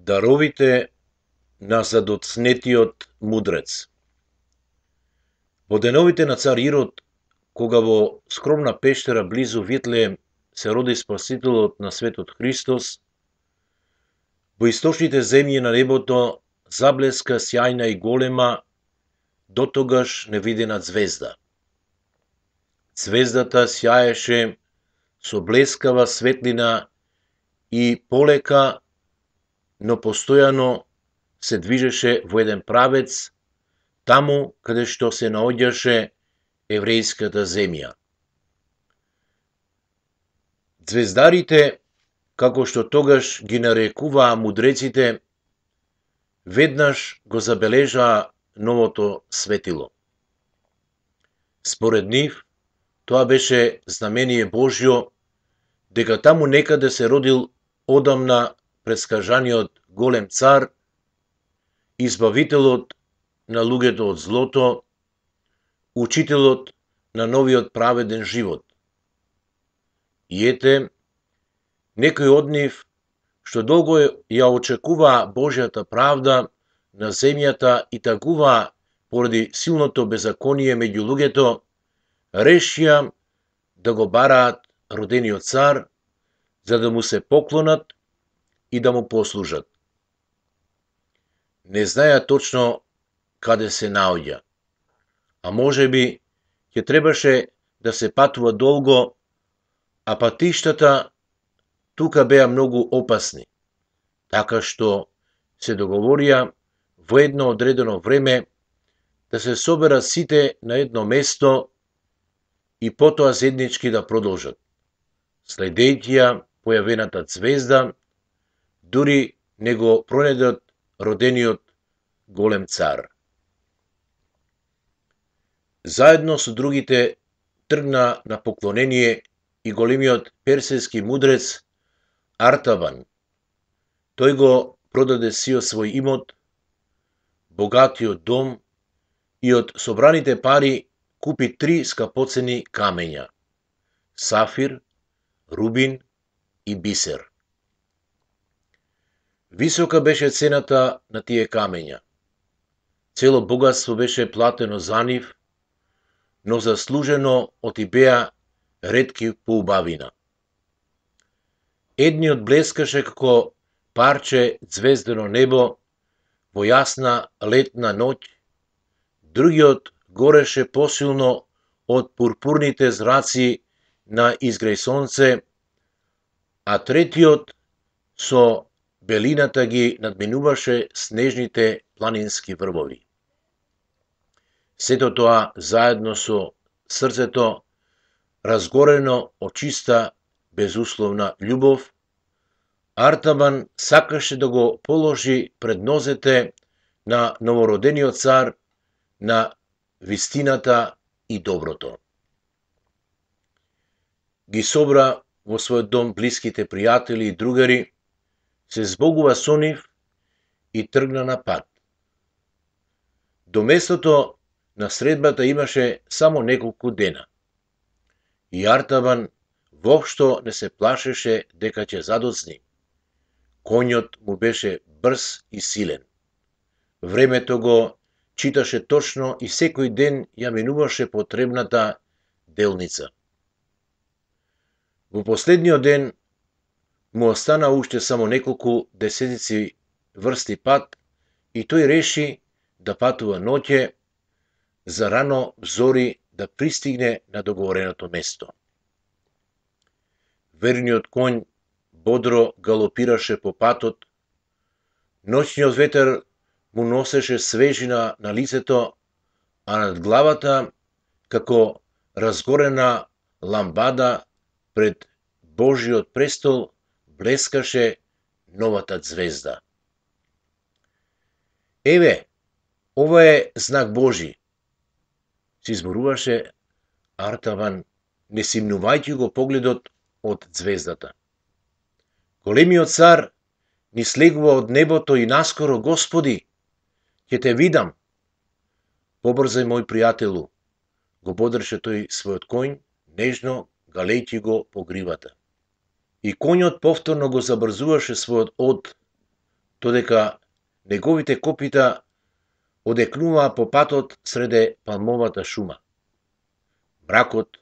Даровите на задоцнетиот мудрец. Во деновите на цар Ирод, кога во скромна пештера близу Витлеем се роди Спасителот на светот Христос, во источните земји на небото заблеска сјајна и голема, дотогаш невидена звезда. Звездата сјаеше со блескава светлина и полека, но постојано се движеше во еден правец, таму каде што се наоѓаше еврејската земја. Звездарите, како што тогаш ги нарекуваа мудреците, веднаш го забележаа новото светило. Според нив, тоа беше знамение Божјо, дека таму некаде се родил одамна предскажаниот голем цар, избавителот на луѓето од злото, учителот на новиот праведен живот. И ете, некои од нив, што долго ја очекуваа Божјата правда на земјата и тагуваа поради силното беззаконие меѓу луѓето, решија да го бараат родениот цар, за да му се поклонат и да му послужат. Не знаеа точно каде се наоѓа, а можеби ќе требаше да се патува долго, а патиштата тука беа многу опасни, така што се договорија во едно одредено време да се соберат сите на едно место и потоа заеднички да продолжат, следејќи ја појавената звезда, дури не го пронајдат родениот голем цар. Заедно со другите тргна на поклонение и големиот персиски мудрец Артаван. Тој го продаде сиот свој имот, богатиот дом и од собраните пари купи 3 скапоцени камења: сафир, рубин и бисер. Висока беше цената на тие камења. Цело богатство беше платено за нив, но заслужено отибеа ретки по убавина. Едниот блескаше како парче звездено небо во јасна летна ноќ, другиот гореше посилно од пурпурните зраци на изгреј сонце, а третиот со белината ги надминуваше снежните планински врвови. Сето тоа заедно со срцето разгорено од чиста безусловна љубов, Артаван сакаше да го положи пред нозете на новородениот цар на вистината и доброто. Ги собра во својот дом блиските пријатели и другари, се збогува со нив и тргна на пат. До местото на средбата имаше само неколку дена. И Артаван воопшто не се плашеше дека ќе задоцни. Конјот му беше брз и силен. Времето го читаше точно и секој ден ја минуваше потребната делница. Во последниот ден му остана уште само неколку десетици врсти пат и тој реши да патува ноќе, за рано зори да пристигне на договореното место. Верниот конј бодро галопираше по патот, ноќниот ветер му носеше свежина на лицето, а над главата, како разгорена ламбада пред Божиот престол, блескаше новата звезда. Еве, ова е знак Божи, си зборуваше Артаван, не симнувајќи го погледот од звездата. Големиот цар ни слегува од небото и наскоро, Господи, ќе те видам. Побрзај, мој пријателу, го бодреше тој својот конј, нежно галејќи го по гривата. И конјот повторно го забрзуваше својот од, додека неговите копита одекнуваа по патот среде палмовата шума. Мракот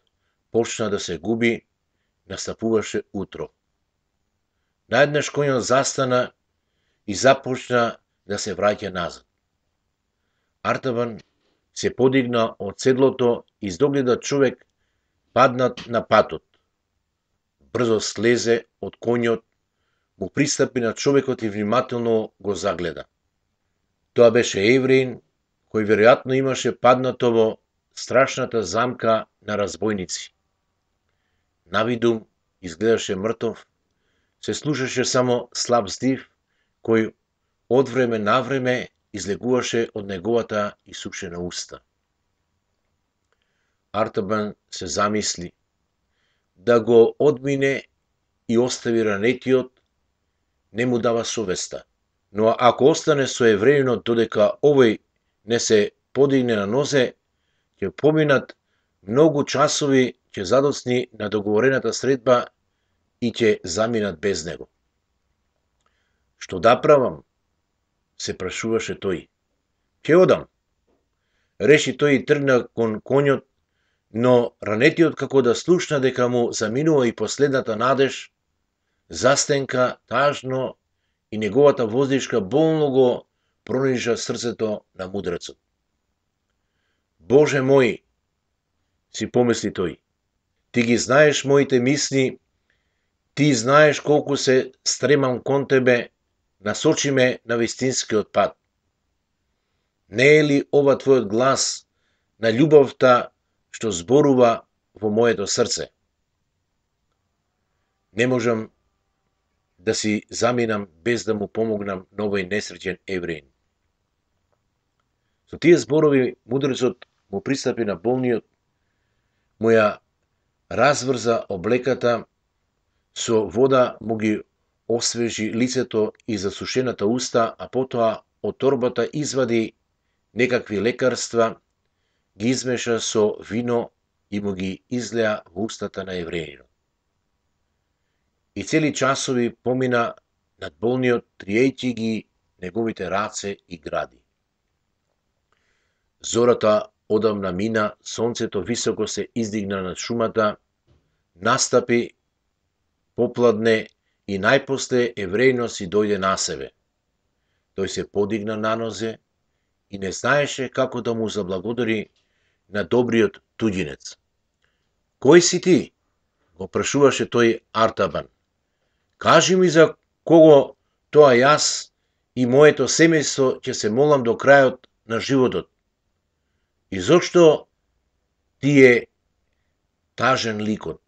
почна да се губи, настапуваше утро. Наеднаш конјот застана и започна да се враќа назад. Артабан се подигна од седлото и издогледа човек паднат на патот. Брзо слезе од конјот, му пристапи на човекот и внимателно го загледа. Тоа беше евреин, кој веројатно имаше паднато во страшната замка на разбойници. Навидум изгледаше мртов, се слушаше само слаб здив, кој од време на време излегуваше од неговата исушена уста. Артабан се замисли да го одмине и остави ранетиот, не му дава совеста. Но ако остане со евреинот додека овој не се подигне на нозе, ќе поминат многу часови, ќе задоцни на договорената средба и ќе заминат без него. Што да правам? Се прашуваше тој. Ќе одам. Реши тој и тргна кон конјот, но ранетиот како да слушна дека му заминува и последната надеж, застенка тажно и неговата воздишка болно го пронижа срцето на мудрецот. Боже мој, си помисли тој, ти ги знаеш моите мисли, ти знаеш колку се стремам кон тебе, насочи ме на вистинскиот пат. Не е ли ова твојот глас на љубовта што зборува во моето срце? Не можам да си заминам без да му помогнам на овој несреќен евреин. Со тие зборови мудрецот му пристапи на болниот, му ја разврза облеката, со вода му ги освежи лицето и засушената уста, а потоа од торбата извади некакви лекарства, ги измеша со вино и му ги излеа во устата на евреинот. И цели часови помина над болниот, триејќи ги неговите раце и гради. Зората одамна мина, сонцето високо се издигна над шумата, настапи, попладне и најпосле евреинот си дојде на себе. Тој се подигна на нозе и не знаеше како да му заблагодари на добриот туѓинец. Кој си ти? Го прашуваше тој Артабан. Кажи ми за кого тоа јас и моето семејство ќе се молам до крајот на животот. И зошто ти е тажен ликот?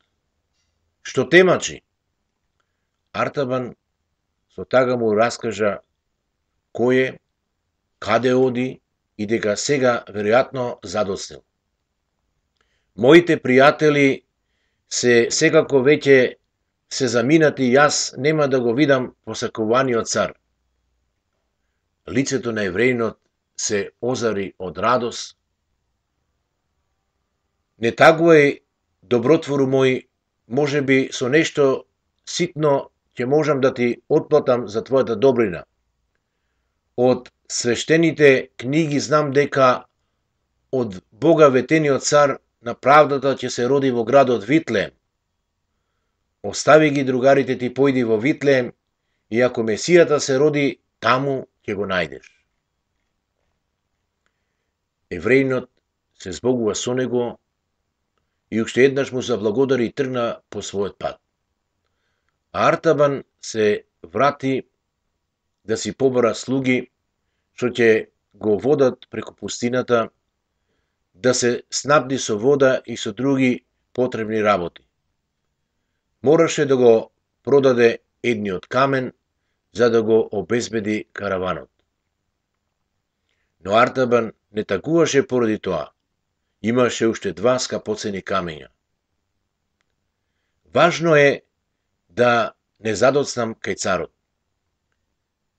Што темачи? Артабан со тага му раскажа кој е, каде оди и дека сега веројатно задоцнил. Моите пријатели се секако веќе се заминати и јас нема да го видам посакуваниот цар. Лицето на евреинот се озари од радост. Не тагувај, добротвору мој, може би со нешто ситно ќе можам да ти отплатам за твојата добрина. Од свештените книги знам дека од Бога ветениот цар на правдата ќе се роди во градот Витлеем. Остави ги другарите ти, појди во Витлеем и ако Месијата се роди, таму ќе го најдеш. Евреинот се збогува со него и уште еднаш му заблагодари и тргна по својот пат. А Артабан се врати да си побара слуги, што ќе го водат преку пустината, да се снабди со вода и со други потребни работи. Мораше да го продаде едниот камен, за да го обезбеди караванот. Но Артабан не тагуваше поради тоа. Имаше уште 2 скапоцени камења. Важно е да не задоцнам кај царот.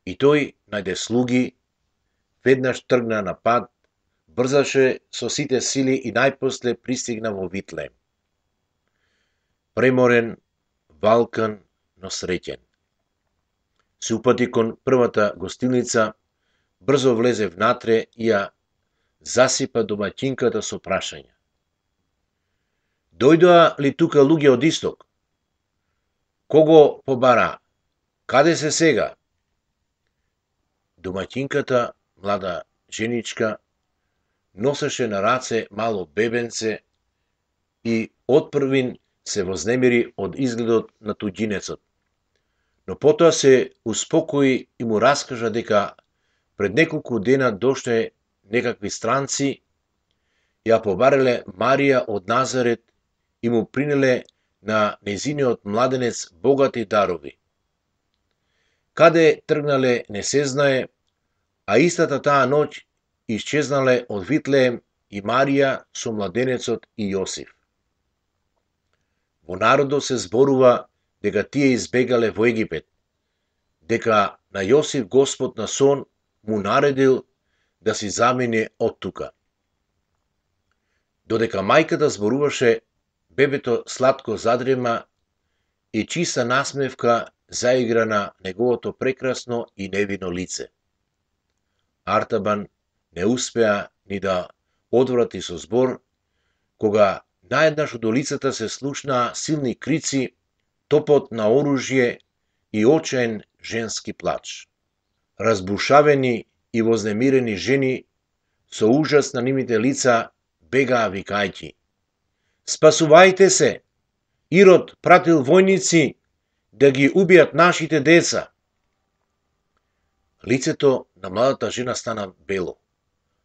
И тој најде слуги, веднаш тргна на пат, брзаше со сите сили и најпосле пристигна во Витлеем. Преморен, валкан, но среќен. се упати кон првата гостилница, брзо влезе внатре и ја засипа домаќинката со прашања. Дојдоа ли тука луѓе од исток? Кого побара? Каде се сега? Домаќинката, млада женичка, носеше на раце мало бебенце и отпрвин се вознемири од изгледот на туѓинецот. Но потоа се успокои и му раскажа дека пред неколку дена дошле некакви странци, ја побареле Марија од Назарет и му принеле на незиниот младенец богати дарови. Каде тргнале не се знае, а истата таа ноќ исчезнале од Витлеем и Марија со младенецот и Јосиф. Во народот се зборува дека тие избегале во Египет, дека на Јосиф Господ на сон му наредил да си замине од тука. Додека мајката зборуваше, бебето сладко задрема и чиста насмевка заигра на неговото прекрасно и невино лице. Артабан не успеа ни да одврати со збор, кога наеднаш од улицата се слушнаа силни крици, топот на оружје и очаен женски плач. Разбушавени и вознемирени жени со ужас на нивните лица бегаа викајќи: "Спасувајте се! Ирод пратил војници да ги убијат нашите деца." Лицето на младата жена стана бело,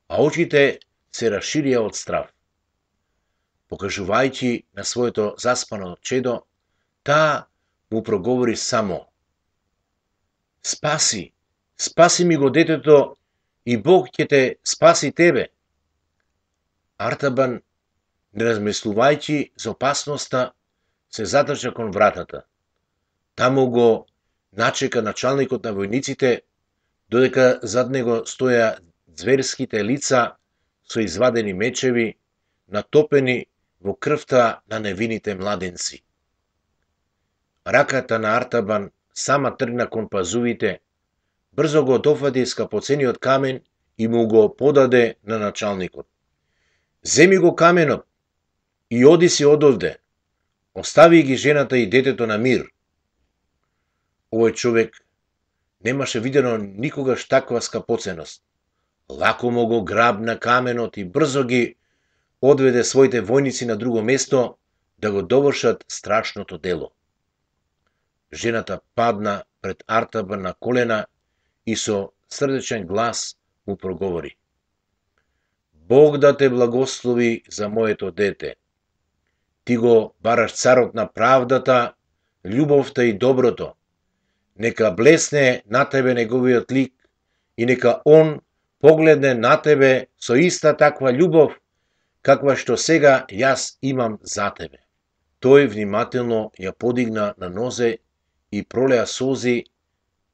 а очите се расширија од страв. Покажувајќи на своето заспано чедо, таа му проговори само: "Спаси, спаси ми го детето и Бог ќе те спаси тебе." Артабан, не размислувајќи за опасноста, се задржа кон вратата. Таму го начека началникот на војниците, додека зад него стоја зверските лица со извадени мечеви, натопени во крвта на невините младенци. Раката на Артабан сама тргна кон пазувите, брзо го дофати скапоцениот камен и му го подаде на началникот. "Земи го каменот и оди си одовде. Остави ги жената и детето на мир." Овој човек немаше видено никогаш таква скапоценост. Лако го грабна каменот и брзо ги одведе своите војници на друго место да го довршат страшното дело. Жената падна пред Артабан на колена и со срдечен глас му проговори: "Бог да те благослови за моето дете. Ти го бараш царот на правдата, љубовта и доброто. Нека блесне на тебе неговиот лик и нека он погледне на тебе со иста таква љубов, каква што сега јас имам за тебе." Тој внимателно ја подигна на нозе и пролеа солзи,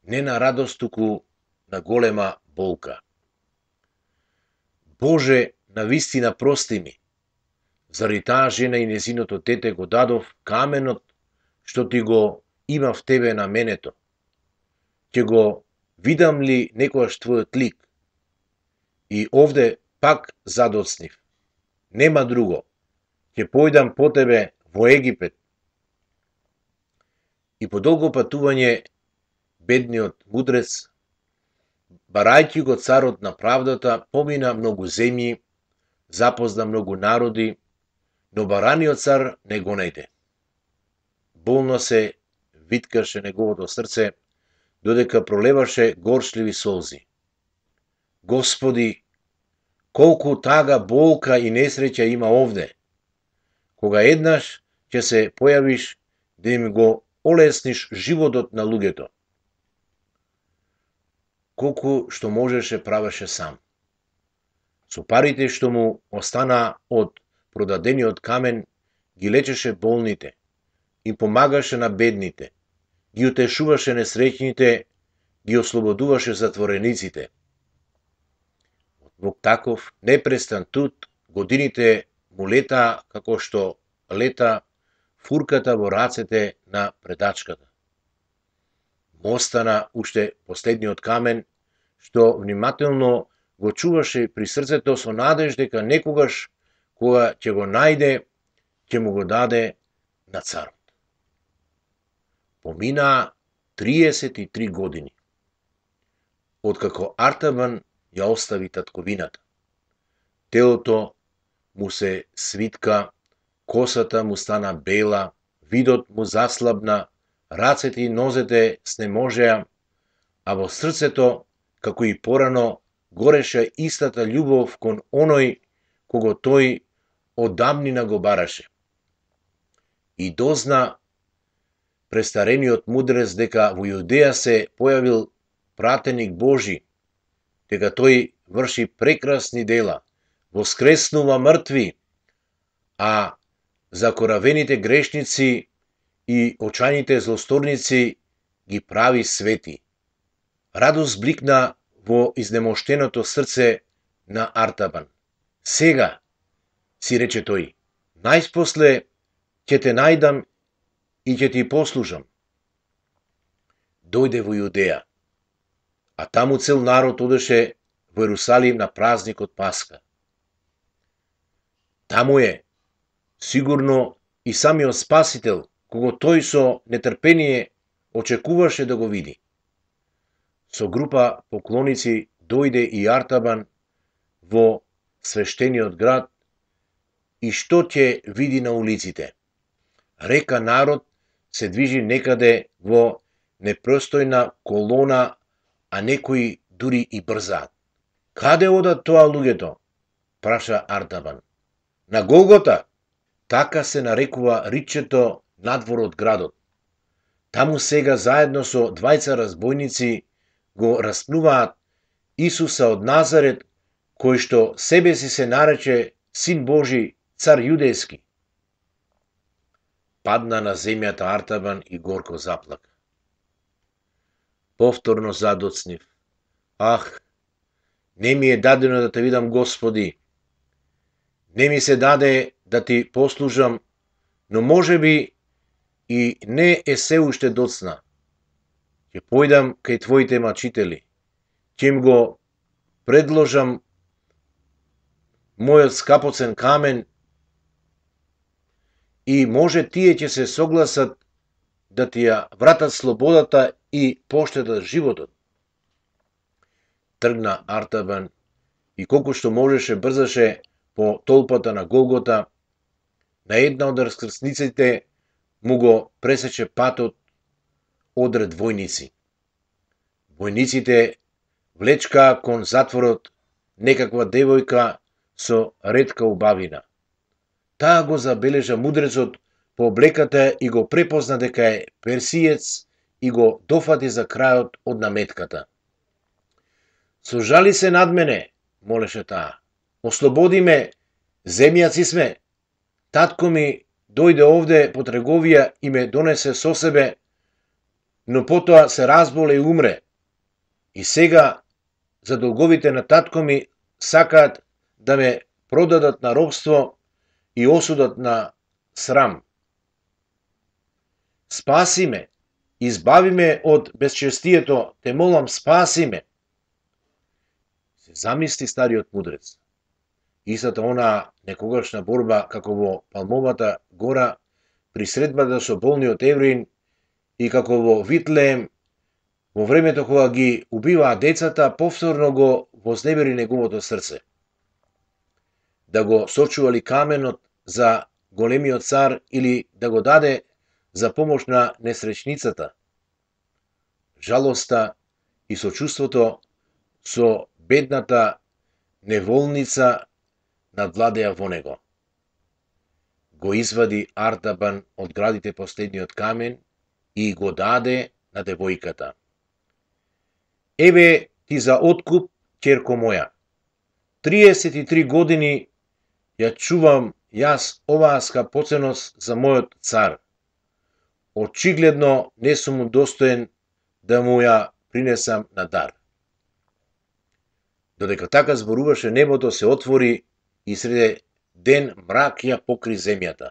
не на радост, туку на голема болка. "Боже, навистина прости ми. Заради таа жена и незиното дете го дадов каменот што ти го имав тебе на менето. Ќе го видам ли некојаш твојот лик? И овде пак задоцнив. Нема друго. Ќе појдам по тебе во Египет." И по долго патување, бедниот мудрец, барајќи го царот на правдата, помина многу земји, запозна многу народи, но бараниот цар не го најде. Болно се виткаше неговото срце, додека пролеваше горчливи солзи. "Господи, колку тага, болка и несреќа има овде. Кога еднаш ќе се појавиш да им го олесниш животот на луѓето." Колку што можеше правеше сам. Со парите што му останаа од продадениот камен, ги лечеше болните, им помагаше на бедните, ги утешуваше несреќните, ги ослободуваше затворениците. Во таков непрестан труд годините му летаа како што лета фурката во рацете на предачката. му остана уште последниот камен, што внимателно го чуваше при срцето со надеж дека некогаш, кога ќе го најде, ќе му го даде на царот. Поминаа 33 години, откако Артабан ја остави татковината. Телото му се свитка, косата му стана бела, видот му заслабна, рацете и нозете снеможеа, а во срцето, како и порано, гореше истата љубов кон оној кого тој одамнина го бараше. И дозна престарениот мудрец дека во Јудеја се појавил пратеник Божи, дека тој врши прекрасни дела, воскреснува мртви, а закоравените грешници и очајните злосторници ги прави свети. Радост бликна во изнемоштеното срце на Артабан. Сега, си рече тој, најспосле ќе те најдам и ќе ти послужам. Дојде во Јудеја, а таму цел народ одеше во Ерусалим на празникот Пасха. Таму е, сигурно, и самиот Спасител, кого тој со нетрпение очекуваше да го види. Со група поклоници дојде и Артабан во свештениот град и што ќе види на улиците? Река народ се движи некаде во непростојна колона, а некои дури и брзаат. Каде одат тоа луѓето? Праша Артабан. На Голгота? Така се нарекува ричето надвор од градот. Таму сега заедно со двајца разбойници го распнуваат Исуса од Назарет, кој што себе си се нарече Син Божи, цар јудејски. Падна на земјата Артабан и горко заплака. Повторно задоцнив. Ах, не ми е дадено да те видам, Господи. Не ми се даде да ти послужам, но може би и не е се уште доцна. Ќе појдам кај твоите мачители. Ќе им го предложам мојот скапоцен камен и може тие ќе се согласат да ти ја вратат слободата и поштедат животот. Тргна Артабан и колку што можеше брзаше по толпата на Голгота. На една од раскрсниците му го пресече патот одред војници. Војниците влечкаа кон затворот некаква девојка со ретка убавина. Таа го забележа мудрецот по облеката и го препозна дека е персиец и го дофати за крајот од наметката. Сожали се над мене, молеше таа. Ослободи ме, земјаци сме. Татко ми дојде овде по трговија и ме донесе со себе, но потоа се разболе и умре. И сега, за долговите на татко ми, сакаат да ме продадат на робство и осудат на срам. Спаси ме, избави ме од безчестието, те молам, спаси ме. Се замисли стариот мудрец. Истата она некогашна борба како во Палмовата гора при средбата со болниот евреин и како во Витлеем, во времето кога ги убиваа децата, повторно го вознебери неговото срце. Да го сочували каменот за големиот цар или да го даде за помош на несречницата. Жалоста и сочувството со бедната неволница надвладеа во него. Го извади Артабан од градите последниот камен и го даде на девојката. Еве ти за откуп, ќерко моја. 33 години ја чувам јас оваа скапоценост за мојот цар. Очигледно не сум му достоен да му ја принесам на дар. Додека така зборуваше, небото се отвори и среде ден мрак ја покри земјата.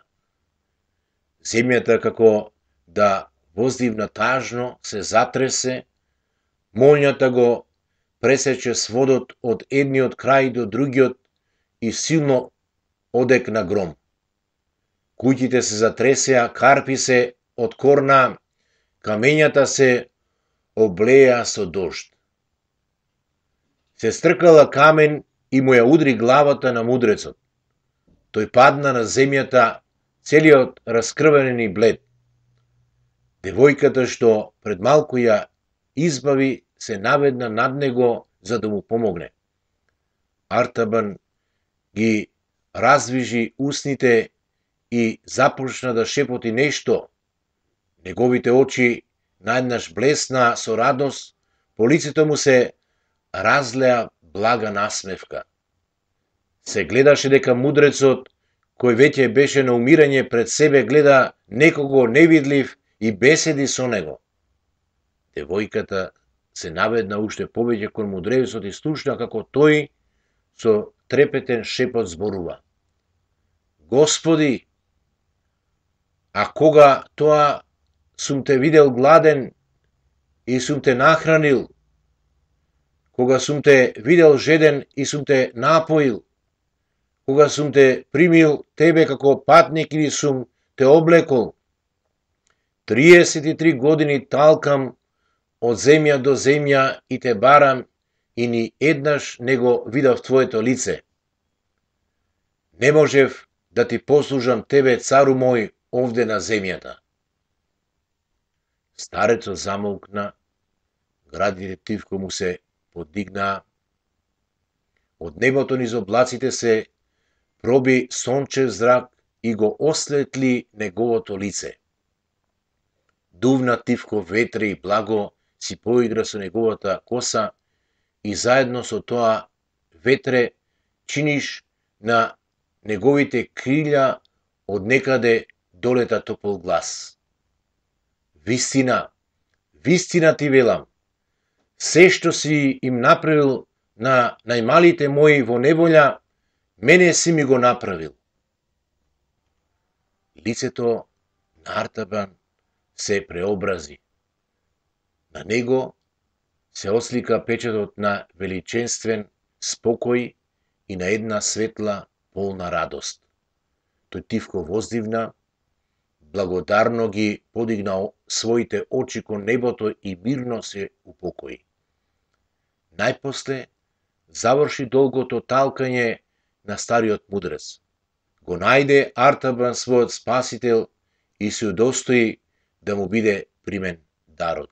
Земјата како да воздивна тажно се затресе, молњата го пресече сводот од едниот крај до другиот и силно одекна гром. Куќите се затресеа, карпи се откорна, камењата се облеја со дожд. Се стркала камен и му ја удри главата на мудрецот. Тој падна на земјата, целиот раскрвенен и блед. Девојката што пред малку ја избави се наведна над него за да му помогне. Артабан ги раздвижи устните и започна да шепоти нешто. Неговите очи наеднаш блесна со радост, по лицето му се разлеа блага насмевка. Се гледаше дека мудрецот, кој веќе беше на умирање пред себе, гледа некого невидлив и беседи со него. Девојката се наведна уште повеќе кон мудрецот и слушна како тој со трепетен шепот зборува. Господи, а кога тоа сум те видел гладен и сум те нахранил, кога сум те видел жеден и сум те напоил, кога сум те примил тебе како патник или сум те облекол, 33 години талкам од земја до земја и те барам и ни еднаш не го видав твоето лице. Не можев да ти послужам тебе, цару мој, овде на земјата. Старецот замолкна, градите тивко му се подигнаа. Од небото низ облаците се проби сончев зрак и го осветли неговото лице. Дувна тивко ветре и благо си поигра со неговата коса и заедно со тоа ветре чиниш на неговите крилја од некаде долета топол глас. Вистина, вистина ти велам, се што си им направил на најмалите мои во неволја, мене си ми го направил. Лицето на Артабан се преобрази. На него се ослика печатот на величенствен спокој и на една светла, полна радост. Тој тивко воздивна, благодарно ги подигна своите очи кон небото и мирно се упокои. Најпосле заврши долгото талкање на стариот мудрец. Го најде Артабан својот спасител и се удостои да му биде примен дарот.